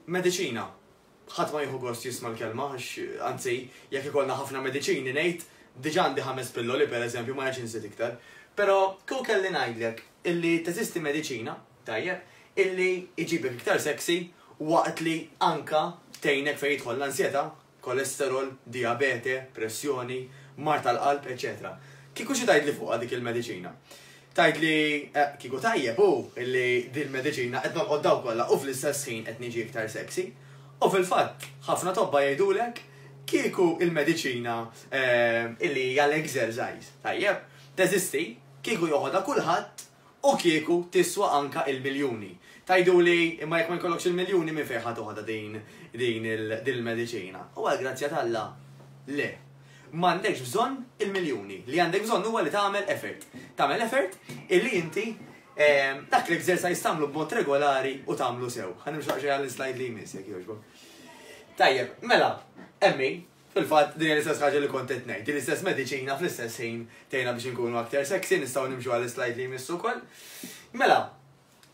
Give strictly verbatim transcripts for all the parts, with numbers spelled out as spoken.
Mediċina. Ħadd ma jieħu gost jisma' l-kelma, għax anzi, jekk ikollna ħafna mediċini ngħid, diġà għandi ħames pilloli, pereżempju, ma rridx inżid iktar. Però kieku kelli ngħidlek illi teżisti mediċina, tajjeb, illi iġibek iktar sexy waqt li anka tgħinek fejn jidħol l-ansjetà, kolesterol, diabete, pressjoni, mard tal-qalb, eċetera. Kieku xi tgħidli fuqha dik il-mediċina? Tgħidli, eh, kieku tajjeb hu illi din mediċina qed nolqod daw kollha u fl-istess ħin qed niġi iktar sexy. U fil-fatt, ħafna tobba jgħidulek kieku il-mediċina eh, illi hija l-exercise, tajjeb, teżisti, kieku joħodha kulħadd u kieku tiswa anka il-miljuni. Tgħiduli, imma jekk ma jkollokx il-miljuni, minn fejn ħa toħodha din din il-mediċina? U għal grazzja t'Alla, le. M'għandekx bżonn il-miljuni. Li għandek bżonn huwa li tagħmel effort. Tagħmel effort illi inti ehm, dak l-exercise tagħmlu b'mod regolari u tagħmlu sew. Ħa nimxu għall-slide li jmiss, jekk jogħġbok. Tajjeb, mela, emmi, fil-fatt din l-istess ħaġa li kont qed ngħid, din l-istess mediċina fl-istess ħin tgħinna biex inkunu aktar sexy, nistgħu nimxu għall-slide li jmiss ukoll. Mela,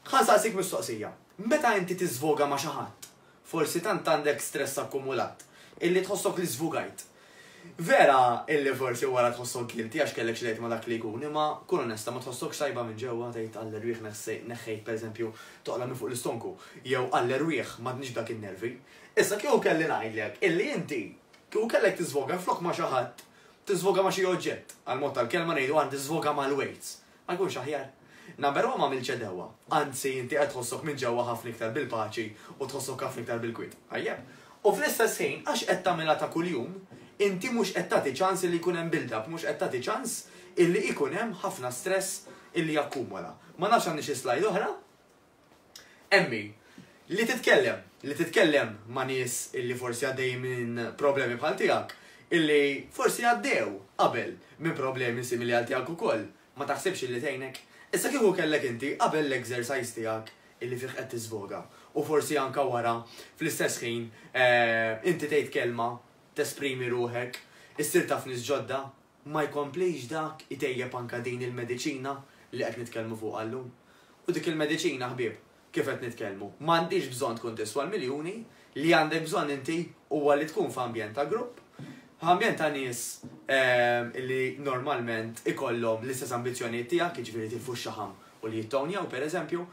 ħa nsaqsik mistoqsija. Meta inti tiżvoga ma' xi ħadd, forsi tant għandek stress akkumulat, illi tħossok li żvugajt. Vera illi forsi wara tħossok guilty għax kellek xi ma dak li jkun, imma kun onesta, ma tħossok tajba minn ġewwa, tgħid għall-erwieħ neħħejt, pereżempju, toqla minn fuq l-istonku, jew għall-erwieħ m'għadniex dak in-nervi? Issa kieku kelli ngħidlek illi inti kieku kellek tiżvoga flok ma xi ħadd, tiżvoga ma xi oġġett, għal mod tal-kelma ngħidu għan tiżvoga mal-weights. Ma jkunx aħjar? Number one, ma mill-ċedewa. Anzi, inti qed tħossok minn ġewwa ħafna iktar bil-paċi u tħossok ħafna iktar bil-kwiet. Tajjeb. U fl-istess ħin, għax qed tagħmilha ta' kuljum, inti mhux qed tagħti ċans li jkun hemm build-up, mhux qed tagħti ċans illi jkun hemm ħafna stress illi jakkumula. Ma nafx għandi xi slide oħra. Emmi, li titkellem, li titkellem ma' nies illi forsi għaddej minn problemi bħal tiegħek, illi forsi għaddew qabel minn problemi simili għal tiegħek ukoll, ma taħsibx illi tgħinek? Issa kieku kellek inti qabel l-exercise tiegħek illi fih qed tiżvoga u forsi anka wara, fl-istess ħin eh, inti tgħid kelma, tesprimi ruħek, issir taf nies ġodda, ma jkomplix dak itejjeb anka din il-mediċina li qed nitkellmu fuq għallum? U dik il-mediċina, ħbieb, kif qed nitkellmu, m'għandix bżonn tkun tiswa l-miljuni, li għandek bżonn inti huwa li tkun f'ambjent ta' grupp, ambjent ta' nies ehm, li normalment ikollhom l-istess ambizzjonijiet tiegħek, jiġifieri tilfu x-xaħam u li jittonjaw, pereżempju,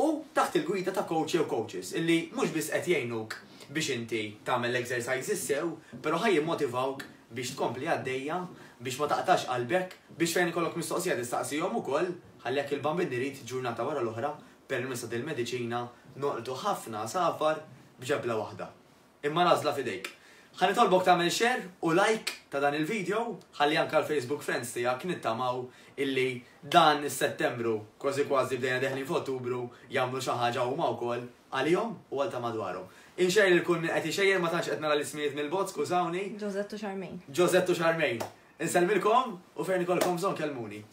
u taħt il-gwida ta' coach jew coaches illi mhux biss qed jgħinuk biex inti tagħmel l-exercises sew, però ħa jimmotivawk biex tkompli għaddejja, biex ma taqtax qalbek, biex fejn ikollok mistoqsija tistaqsihom ukoll, ħalli jekk il-Bambin irid, ġurnata wara l-oħra, permezz il-mediċina noqtu ħafna għasafar b'ġebla waħda. Imma l-għażla f'idejk. Ħa nitolbok tagħmel share u like ta' dan il-video, ħalli anka l-Facebook friends tiegħek, nittamaw illi dan is-Settembru, kważi kważi bdejna deħlin f'Ottubru, jagħmlu xi ħaġa huma wkoll għalihom u għal ta' madwarhom. Inxejjer lil kull min qed ixejjer, ma tantx qed nara l-ismijiet mill-bogħod, skużawni. Josette u Charmaine. Josette u Charmaine. Insellmilkom u fejn ikolkom bżonn kellmuni.